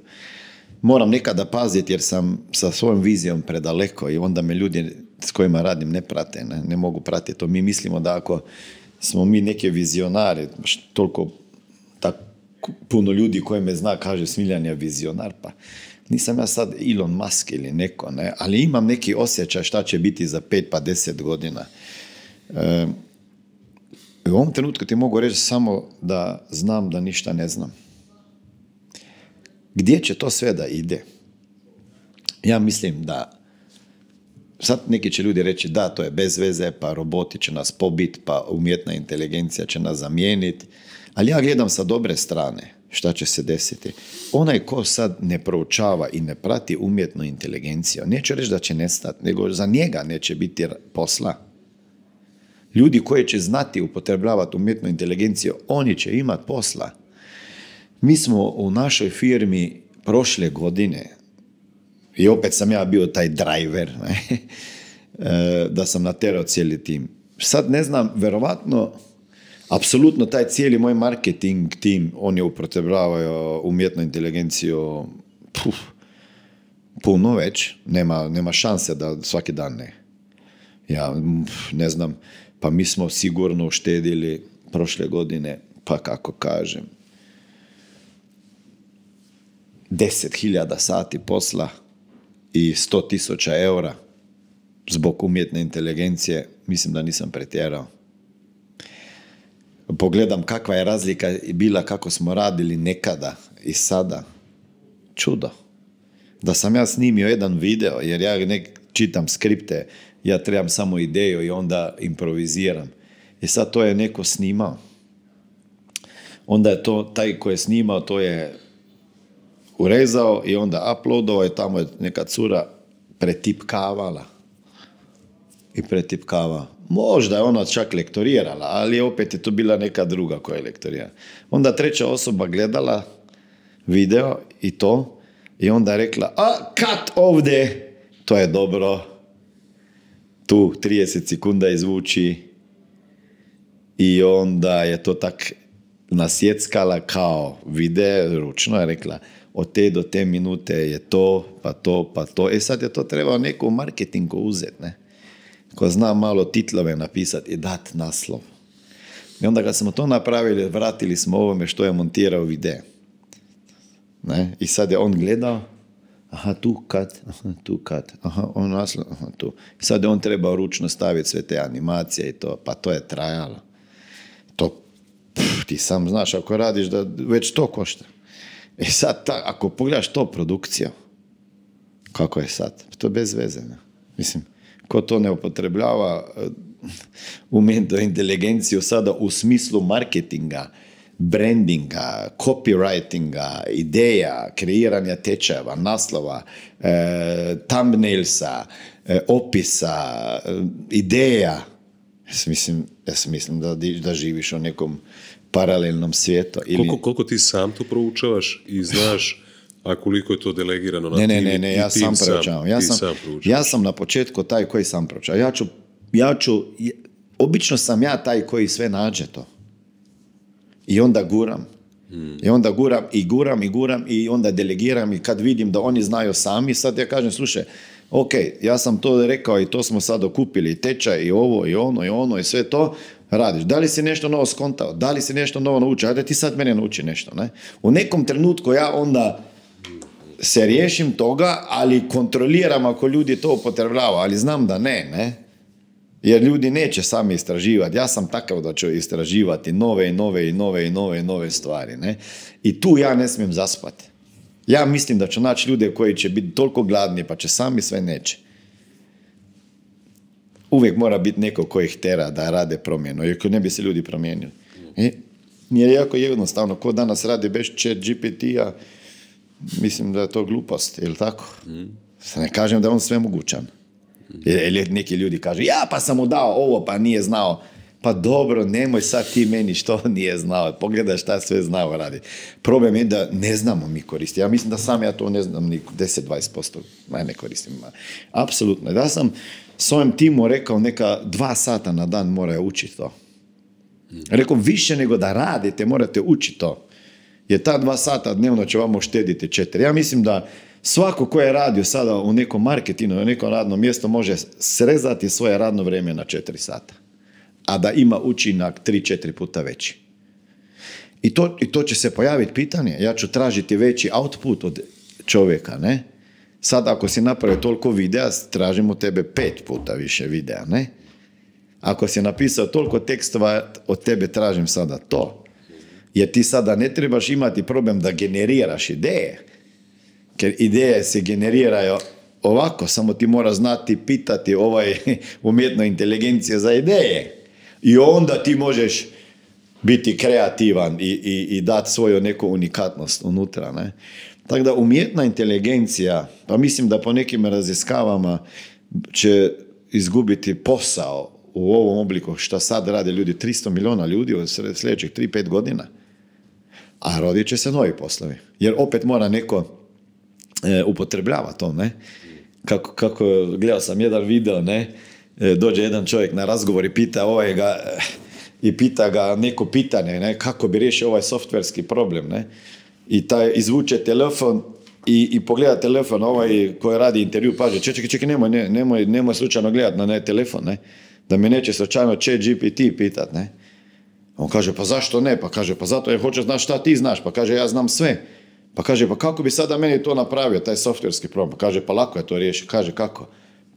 Moram nekada paziti jer sam sa svojom vizijom predaleko i onda me ljudi s kojima radim ne prate, ne mogu pratiti to. Mi mislimo da ako smo mi neke vizionari, toliko puno ljudi koji me zna kaže Smiljan je vizionar, pa nisam ja sad Elon Musk ili neko, ne? Ali imam neki osjećaj šta će biti za 5 pa 10 godina. U ovom trenutku ti mogu reći samo da znam da ništa ne znam. Gdje će to sve da ide? Ja mislim da sad neki će ljudi reći da, to je bez veze, pa roboti će nas pobiti, pa umjetna inteligencija će nas zamijeniti. Ali ja gledam sa dobre strane šta će se desiti. Onaj ko sad ne proučava i ne prati umjetnu inteligenciju, neće reći da će nestati, nego za njega neće biti posla. Ljudi koji će znati upotrebljavati umjetnu inteligenciju, oni će imati posla. Mi smo u našoj firmi prošle godine, i opet sam ja bio taj driver, ne? Da sam naterao cijeli tim. Sad ne znam, verovatno, apsolutno taj cijeli moj marketing tim, on je upotrebljavao umjetnu inteligenciju puno već, nema šanse da svaki dan ne. Ja ne znam, pa mi smo sigurno uštedili prošle godine, pa kako kažem, 10.000 sati posla i 100.000 eura zbog umjetne inteligencije. Mislim da nisam pretjerao. Pogledam kakva je razlika bila kako smo radili nekada i sada. Čudo. Da sam ja snimio jedan video, jer ja ne čitam skripte, ja trebam samo ideju i onda improviziram. I sad to je neko snimao. Onda je to, taj koji je snimao, to je urezao i onda uploadovao i tamo je neka cura pretipkavala. I pretipkava. Možda je ona čak lektorirala, ali opet je to bila neka druga koja je lektorirala. Onda treća osoba gledala video i to i onda je rekla, cut ovdje, to je dobro. Tu 30 sekunda izvuči i onda je to tak nasjeckala kao video, ručno je rekla, od te do te minute je to, pa to, pa to. Sad je to trebao neko u marketingu uzeti, ne? Ko zna malo titlove napisati i dati naslov. I onda kad smo to napravili, vratili smo ovome što je montirao video. Ne? I sad je on gledao, aha, tu cut, aha, on naslov, aha, tu. I sad je on trebao ručno staviti sve te animacije i to, pa to je trajalo. To, ti sam znaš, ako radiš da već to košta. I sad, ako pogledaš to produkciju, kako je sad? To je bez veze. Ne? Mislim, ko to ne upotrebljava umjetnu inteligenciju sada u smislu marketinga, brandinga, copywritinga, ideja, kreiranja tečajeva, naslova, thumbnailsa, opisa, ideja. Ja mislim da živiš u nekom paralelnom svijetu. Koliko ti sam to proučavaš i znaš, a koliko je to delegirano na Ne, ja sam proučavam. Ja sam na početku taj koji sam proučava. Obično sam ja taj koji sve nađe to. I onda guram. I onda guram i onda delegiram i kad vidim da oni znaju sami, sad ja kažem, slušaj, ok, ja sam to rekao i to smo sad okupili, tečaj i ovo i ono i sve to, radiš. Da li si nešto novo skontao? Da li si nešto novo naučio? Ajde ti sad mene nauči nešto. Ne? U nekom trenutku ja onda se riješim toga, ali kontroliram ako ljudi to upotrebljavaju, ali znam da ne. Jer ljudi neće sami istraživati. Ja sam takav da ću istraživati nove stvari. Ne? I tu ja ne smijem zaspati. Ja mislim da ću naći ljude koji će biti toliko gladni pa će sami sve neće. Uvijek mora biti neko koji ih tera da rade promjenu, jer ne bi se ljudi promijenili. Nije jako jednostavno. Ko danas radi bez ChatGPT-a, mislim da je to glupost, je li tako? Ne kažem da je on sve mogućan. Jer neki ljudi kažu, ja pa sam mu dao ovo, pa nije znao. Pa dobro, nemoj sad ti meni što nije znao. Pogledaj šta sve znao radi. Problem je da ne znamo mi koristiti. Ja mislim da sam ja to ne znam ni 10-20%. Ne koristim. Apsolutno. Da sam svojem timu rekao neka 2 sata na dan moraju učiti to. Rekao, više nego da radite, morate učiti to. Jer ta 2 sata dnevno će vam uštediti 4. Ja mislim da svako ko je radio sada u nekom marketingu, u nekom radnom mjestu može srezati svoje radno vrijeme na 4 sata. A da ima učinak 3-4 puta veći. I to će se pojaviti pitanje. Ja ću tražiti veći output od čovjeka, ne? Sad ako si napravio toliko videa, tražim od tebe 5 puta više videa, ne? Ako si napisao toliko tekstova, od tebe tražim sada to. Jer ti sada ne trebaš imati problem da generiraš ideje. Jer ideje se generiraju ovako, samo ti mora znati pitati umjetnu inteligenciju za ideje. I onda ti možeš biti kreativan i dati svoju neku unikatnost unutra. Ne? Tako da umjetna inteligencija, pa mislim da po nekim raziskavama će izgubiti posao u ovom obliku što sad rade ljudi, 300 milijuna ljudi u sljedećih 3-5 godina. A rodit će se novi poslovi. Jer opet mora neko upotrebljava to, ne? Kako gledao sam jedan video, ne? Dođe jedan čovjek na razgovor i pita ga neko pitanje, ne? Kako bi riješio ovaj softverski problem, ne? I taj izvuče telefon i pogleda telefon, ovaj koji radi intervju, paže, čekaj, nemoj slučajno gledati na telefon, ne? Da mi neće slučajno ChatGPT pitat, ne? On kaže, pa zašto ne? Pa kaže, pa zato jer hoće znaš šta ti znaš. Pa kaže, ja znam sve. Pa kaže, pa kako bi sada meni to napravio, taj softverski problem? Pa kaže, pa lako je to riješiti. Kaže, kako?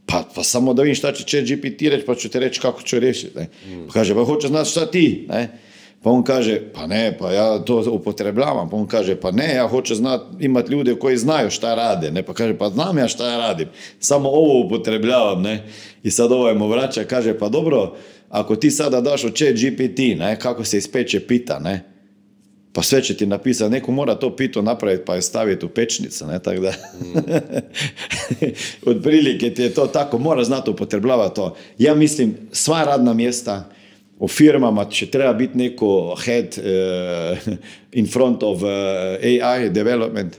Pa samo da vidim šta će ChatGPT reći, pa ću ti reći kako ću riješiti. Ne? Pa kaže, pa hoće znaš šta ti? Ne? Pa on kaže, pa ne, pa ja to upotrebljavam. Pa on kaže, pa ne, ja hoću imati ljude koji znaju šta rade. Ne? Pa kaže, pa znam ja šta ja radim. Samo ovo upotrebljavam. Ne? I sad ovaj mu vraća, kaže, pa dobro, ako ti sada daš u ChatGPT, ne, kako se ispeče pita, ne, pa sve će ti napisati, neko mora to pito napraviti pa je staviti u pečnicu, ne, tako da otprilike ti je to tako, mora znati upotrebljavati to. Ja mislim, sva radna mjesta u firmama će treba biti neko head in front of AI development.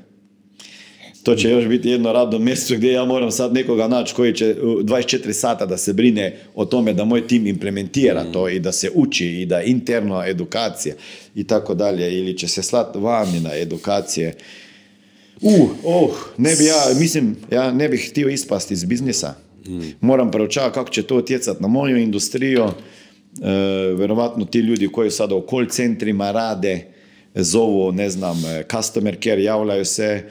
To će još biti jedno radno mjesto gdje ja moram sad nekoga naći koji će 24 sata da se brine o tome da moj tim implementira to i da se uči i da interno edukacija i tako dalje. Ili će se slati vani na edukacije. Ja ne bih htio ispasti iz biznisa. Moram proučavati kako će to utjecati na moju industriju. Vjerovatno ti ljudi koji sada u call centrima rade, zovu, ne znam, customer care, javljaju se,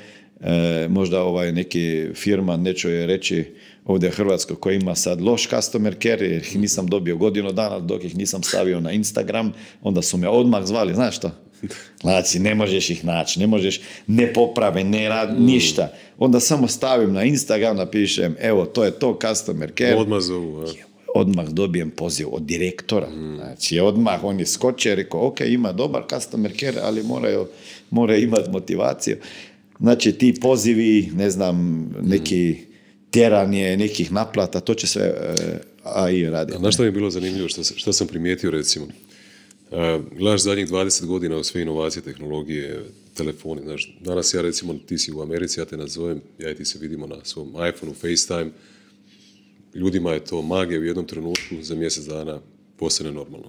možda neki firma, neću je reći ovdje u Hrvatskoj, koji ima sad loš customer care, jer ih nisam dobio godinu dana dok ih nisam stavio na Instagram, onda su me odmah zvali, znaš što? Znači, ne možeš ih naći, ne možeš, ne poprave, ne radi, ništa. Onda samo stavim na Instagram, napišem, evo, to je to customer care. Odmah zovu, Odmah dobijem poziv od direktora. Znači, odmah on je skočio, rekao, ok, ima dobar customer care, ali moraju imati motivaciju. Znači, ti pozivi, ne znam, neki tjeranje, nekih naplata, to će sve AI raditi. Znaš što mi je bilo zanimljivo, što sam primijetio, recimo? Gledaš zadnjih 20 godina u sve inovacije, tehnologije, telefoni. Znaš, danas ja, recimo, ti si u Americi, ja te nazovem, ja i ti se vidimo na svom iPhoneu, FaceTime. Ljudima je to magija u jednom trenutku, za mjesec dana postane normalno.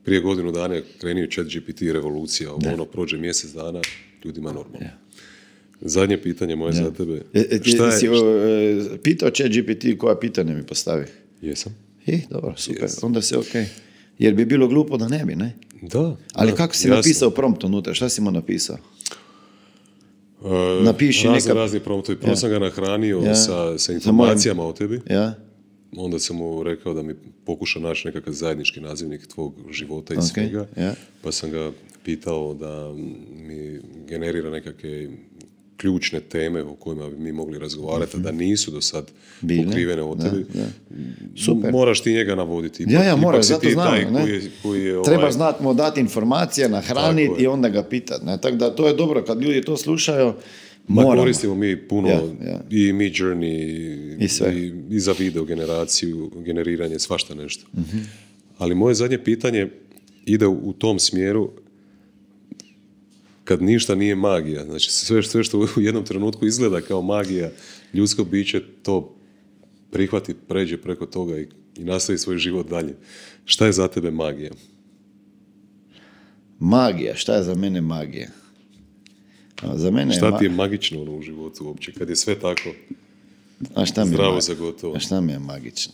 Prije godinu dana je krenio ChatGPT revolucija, prođe mjesec dana, ljudima je normalno. Zadnje pitanje moje za tebe. Si pitao ChatGPT koja pitanje mi postavi? Jesam. Dobro, super, onda se ok. Jer bi bilo glupo da ne bi, ne? Da. Ali kako si napisao prompt unutra? Šta si mu napisao? Napiši razni promptovi. Prvo sam ga nahranio sa informacijama o tebi. Onda sam mu rekao da mi pokuša naći nekakav zajednički nazivnik tvog života i svega. Pa sam ga pitao da mi generira nekakve ključne teme o kojima bi mi mogli razgovarati, da nisu do sad pokrivene o tebi. Super. Moraš ti njega navoditi. Moraš, zato znam. Treba znati mu dati informacije, nahraniti i onda ga pitati. Tako da to je dobro, kad ljudi to slušaju, koristimo mi puno i Midjourney i za video generaciju, generiranje, svašta nešto. Ali moje zadnje pitanje ide u tom smjeru, kad ništa nije magija, znači sve što u jednom trenutku izgleda kao magija, ljudsko biće to prihvati, pređe preko toga i nastavi svoj život dalje. Šta je za tebe magija? Magija, šta je za mene magija? Za mene šta ti je magično u životu uopće, kad je sve tako zdravo za gotovo? A šta mi je magično?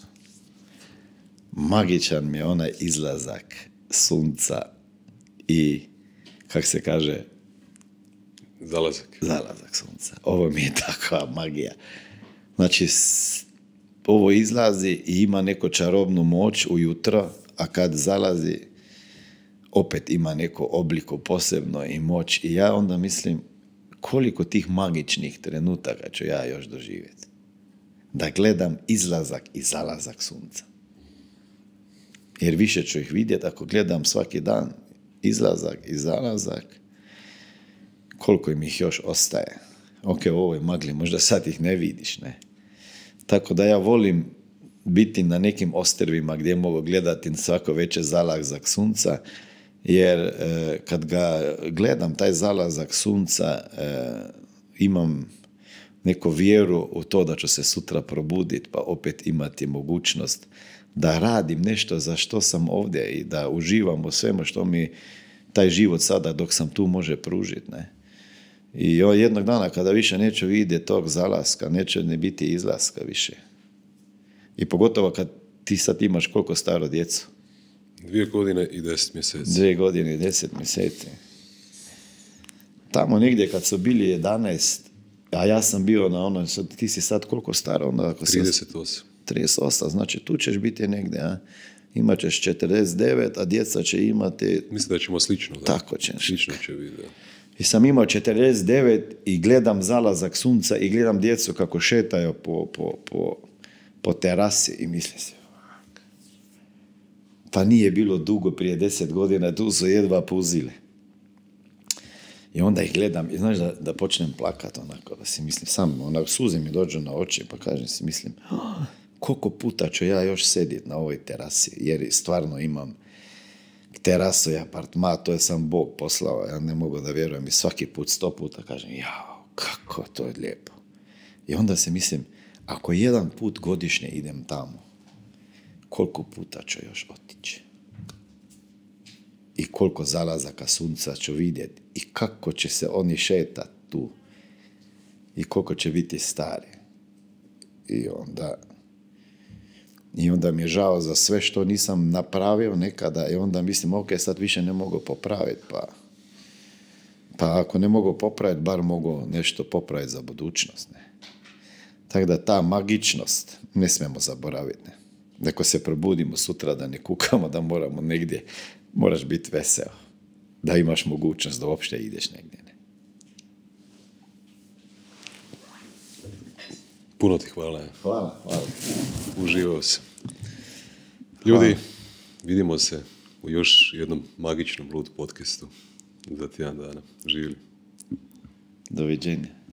Magičan mi je onaj izlazak sunca i, kak se kaže, Zalazak sunca. Ovo mi je takva magija. Znači, ovo izlazi i ima neku čarobnu moć ujutro, a kad zalazi, opet ima neko obliko posebno i moć. I ja onda mislim, koliko tih magičnih trenutaka ću ja još doživjeti. Da gledam izlazak i zalazak sunca. Jer više ću ih vidjeti ako gledam svaki dan izlazak i zalazak, koliko im ih još ostaje. Ok, u ovoj magli, možda sad ih ne vidiš, ne? Tako da ja volim biti na nekim ostrvima gdje mogu gledati svako veće zalazak sunca, jer kad ga gledam, taj zalazak sunca, imam neku vjeru u to da ću se sutra probuditi, pa opet imati mogućnost da radim nešto za što sam ovdje i da uživam u svemu što mi taj život sada dok sam tu može pružiti. Ne? I jednog dana kada više neću vidjeti tog zalaska, neće ne biti izlaska više. I pogotovo kad ti sad imaš koliko staro djecu? 2 godine i 10 mjeseci. 2 godine i 10 mjeseci. Tamo negdje kad su bili 11, a ja sam bio na ono, ti si sad koliko staro? Onda, ako 38. 38, znači tu ćeš biti negdje, a? Imat ćeš 49, a djeca će imati... Mislim da ćemo slično. Da. Tako ćeš. Slično će biti, da. I sam imao 49 i gledam zalazak sunca i gledam djecu kako šetaju po terasi i mislim se, pa nije bilo dugo prije 10 godina, tu su jedva puzile. I onda ih gledam i znaš da počnem plakat onako, da si mislim, sam onako suze mi dođu na oči, pa kažem si mislim, koliko puta ću ja još sedjeti na ovoj terasi, jer stvarno imam terasu i apartman, to je sam Bog poslao, ja ne mogu da vjerujem i svaki put 100 puta kažem, jao, kako to je lijepo. I onda se mislim, ako jedan put godišnje idem tamo, koliko puta ću još otići? I koliko zalazaka sunca ću vidjeti? I kako će se oni šetati tu? I koliko će biti stari? I onda mi je žao za sve što nisam napravio nekada i onda mislim, ok, sad više ne mogu popraviti, pa ako ne mogu popraviti, bar mogu nešto popraviti za budućnost. Ne? Tako da ta magičnost ne smijemo zaboraviti. Ne? Neko se probudimo sutra da ne kukamo, da moramo negdje, moraš biti veseo, da imaš mogućnost da uopšte ideš negdje. Ne? Puno ti hvala. Hvala. Uživao se. Ljudi, vidimo se u još jednom magičnom Lud podcastu za tjedan dana. Živjeli. Doviđenja.